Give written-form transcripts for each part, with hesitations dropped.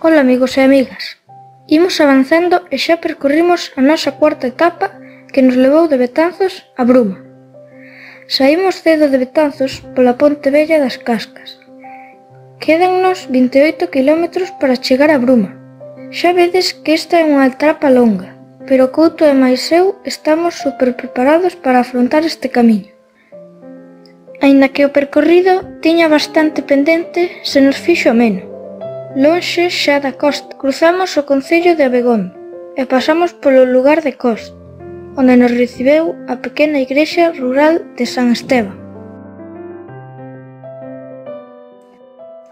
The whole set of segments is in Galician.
Ola amigos e amigas, imos avanzando e xa percorrimos a nosa cuarta etapa que nos levou de Betanzos a Bruma. Saímos cedo de Betanzos pola Ponte Vella das Cascas. Quédannos 28 km para chegar a Bruma. Xa vedes que esta é unha etapa longa, pero Couto e máis eu estamos super preparados para afrontar este camiño. Aínda que o percorrido tiña bastante pendente, se nos fixo ameno. Lonxe xa da costa, cruzamos o concello de Abegondo e pasamos polo lugar de Cos, onde nos recibeu a pequena igrexa rural de San Esteban.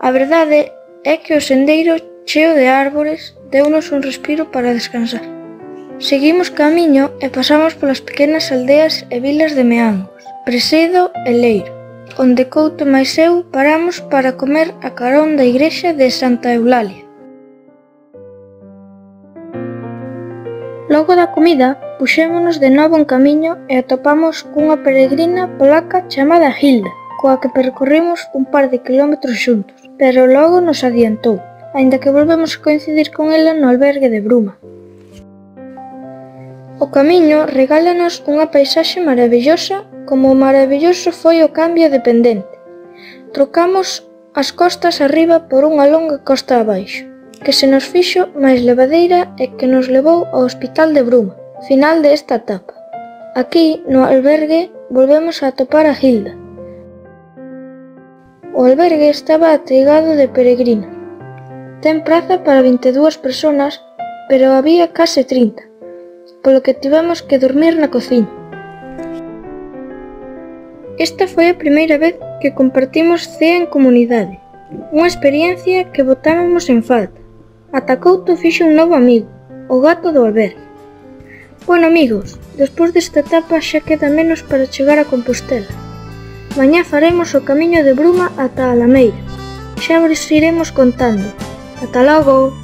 A verdade é que o sendeiro cheo de árbores deunos un respiro para descansar. Seguimos camiño e pasamos polas pequenas aldeas e vilas de Meangos, Presedo e Leiro, onde Couto e máis eu paramos para comer a carón da igrexa de Santa Eulalia. Logo da comida, puxémonos de novo en camiño e atopamos cunha peregrina polaca chamada Hilda, coa que percorrimos un par de kilómetros xuntos, pero logo nos adiantou, aínda que volvemos a coincidir con ela no albergue de Bruma. O camiño regálanos unha paisaxe maravillosa, como maravilloso foi o cambio de pendente. Trocamos as costas arriba por unha longa costa abaixo, que se nos fixo máis levadeira e que nos levou ao Hospital de Bruma, final desta etapa. Aquí, no albergue, volvemos a atopar a Hilda. O albergue estaba ateigado de peregrinos. Ten praza para 22 persoas, pero había case 30, polo que tivemos que dormir na cociña. Esta foi a primeira vez que compartimos cea en comunidade, unha experiencia que botábamos en falta. Ata Couto fixo un novo amigo, o gato do albergue. Bueno amigos, despois desta etapa xa queda menos para chegar a Compostela. Mañá faremos o camiño de Bruma ata a Alameira. Xa vos iremos contando. Ata logo!